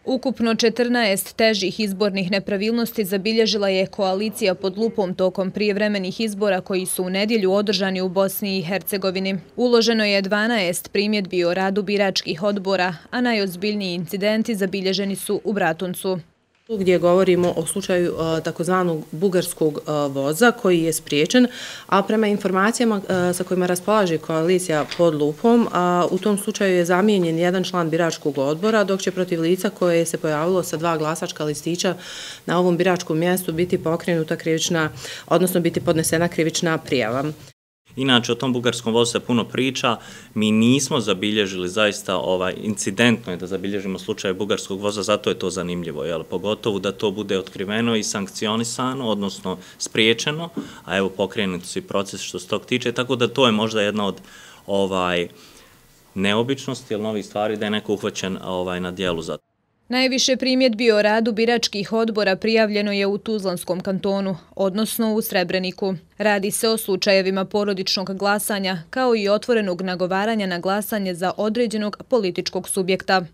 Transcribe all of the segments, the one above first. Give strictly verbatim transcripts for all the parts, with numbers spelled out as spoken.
Ukupno četrnaest težih izbornih nepravilnosti zabilježila je koalicija pod lupom tokom prijevremenih izbora koji su u nedjelju održani u Bosni i Hercegovini. Uloženo je dvanaest primjedbi o radu biračkih odbora, a najozbiljniji incidenti zabilježeni su u Bratuncu. Gdje govorimo o slučaju takozvanog bugarskog voza koji je spriječen, a prema informacijama sa kojima raspolaže koalicija pod lupom, u tom slučaju je zamijenjen jedan član biračkog odbora, dok će protiv lica koje se pojavilo sa dva glasačka listića na ovom biračkom mjestu biti pokrenuta krivična, odnosno biti podnesena krivična prijava. Inače, o tom bugarskom vozu se puno priča, mi nismo zabilježili zaista ovaj, incidentno je da zabilježimo slučaj bugarskog voza, zato je to zanimljivo, jel? Pogotovo da to bude otkriveno i sankcionisano, odnosno spriječeno, a evo pokrenuti su i proces što se tog tiče, tako da to je možda jedna od ovaj, neobičnosti ili novih stvari da je neko uhvaćen ovaj, na dijelu za to. Najviše primjedbi o radu biračkih odbora prijavljeno je u Tuzlanskom kantonu, odnosno u Srebreniku. Radi se o slučajevima porodičnog glasanja, kao i otvorenog nagovaranja na glasanje za određenog političkog subjekta.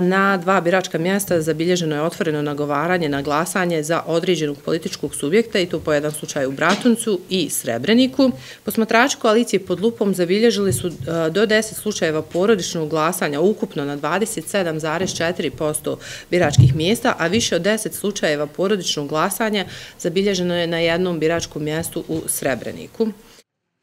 Na dva biračka mjesta zabilježeno je otvoreno nagovaranje na glasanje za određenog političkog subjekta i to po jedan slučaj u Bratuncu i Srebreniku. Posmatrači koalicije pod lupom zabilježili su do deset slučajeva porodičnog glasanja ukupno na dvadeset sedam zarez četiri posto biračkih mjesta, a više od deset slučajeva porodičnog glasanja zabilježeno je na jednom biračkom mjestu u Srebreniku.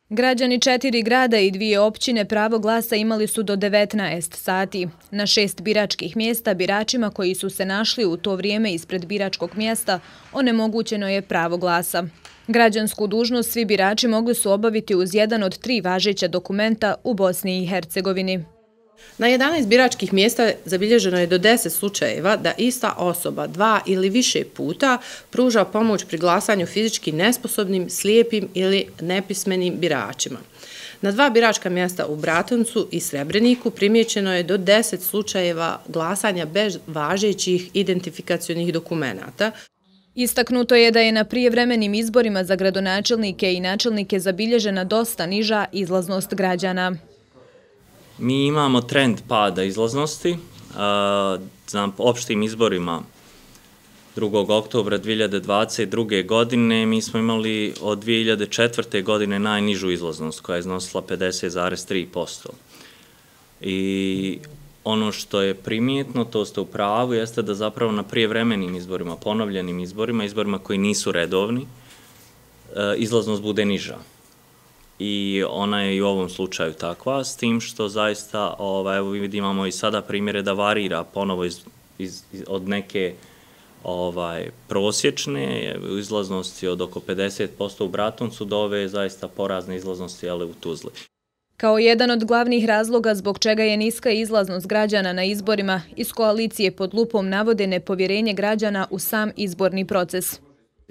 Građani četiri grada i dvije općine pravo glasa imali su do devetnaest sati. Na šest biračkih mjesta biračima koji su se našli u to vrijeme ispred biračkog mjesta onemogućeno je pravo glasa. Građansku dužnost svi birači mogli su obaviti uz jedan od tri važeća dokumenta u Bosni i Hercegovini. Na jedanaest biračkih mjesta zabilježeno je do deset slučajeva da ista osoba dva ili više puta pruža pomoć pri glasanju fizički nesposobnim, slijepim ili nepismenim biračima. Na dva biračka mjesta u Bratuncu i Srebreniku primijećeno je do deset slučajeva glasanja bez važećih identifikacionih dokumenata. Istaknuto je da je na prijevremenim izborima za gradonačelnike i načelnike zabilježena dosta niža izlaznost građana. Mi imamo trend pada izlaznosti. Na opštim izborima drugog oktobra dvije hiljade dvadeset druge. godine mi smo imali od dvije hiljade četvrte. godine najnižu izlaznost koja je iznosila pedeset zarez tri posto. I ono što je primijetno, to ste u pravu, jeste da zapravo na prijevremenim izborima, ponovljenim izborima, izborima koji nisu redovni, izlaznost bude niža. I ona je i u ovom slučaju takva, s tim što zaista, ovaj, evo vidimo i sada primjere da varira ponovo iz, iz, od neke ovaj, prosječne izlaznosti od oko pedeset posto u Bratuncu do ove zaista porazne izlaznosti, ali u Tuzli. Kao jedan od glavnih razloga zbog čega je niska izlaznost građana na izborima, iz koalicije pod lupom navode nepovjerenje građana u sam izborni proces.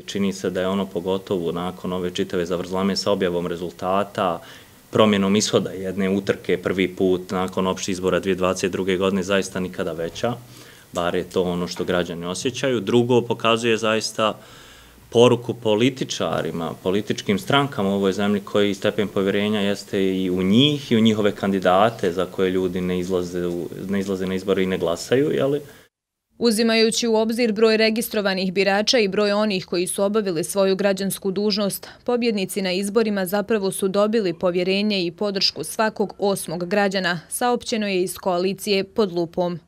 Čini se da je ono pogotovo nakon ove čitave zavrzlame sa objavom rezultata, promjenom ishoda jedne utrke prvi put nakon opštih izbora dvije hiljade dvadeset druge. godine zaista nikada veća, bar je to ono što građani osjećaju. Drugo, pokazuje zaista poruku političarima, političkim strankama u ovoj zemlji koji stepen povjerenja jeste i u njih i u njihove kandidate za koje ljudi ne izlaze, ne izlaze na izbore i ne glasaju, jeli? Uzimajući u obzir broj registrovanih birača i broj onih koji su obavili svoju građansku dužnost, pobjednici na izborima zapravo su dobili povjerenje i podršku svakog osmog građana, saopćeno je iz koalicije pod lupom.